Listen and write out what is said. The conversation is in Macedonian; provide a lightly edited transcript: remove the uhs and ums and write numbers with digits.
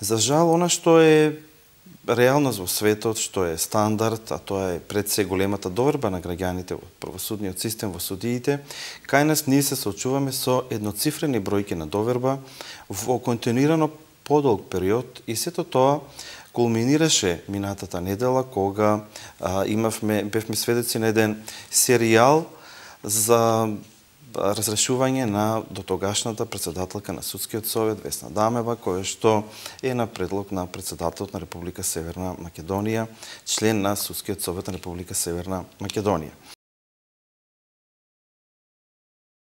За жал, она што е реалност во светот, што е стандард, а тоа е пред се големата доверба на граѓаните во правосудниот систем, во судиите, кај нас ние се соочуваме со едноцифрени бројки на доверба во континуирано подолг период и сето тоа кулминираше минатата недела кога бевме сведоци на еден серијал за разрешување на дотогашната претседателка на Судскиот совет Весна Дамева, која што е на предлог на претседателот на Република Северна Македонија, член на Судскиот совет на Република Северна Македонија.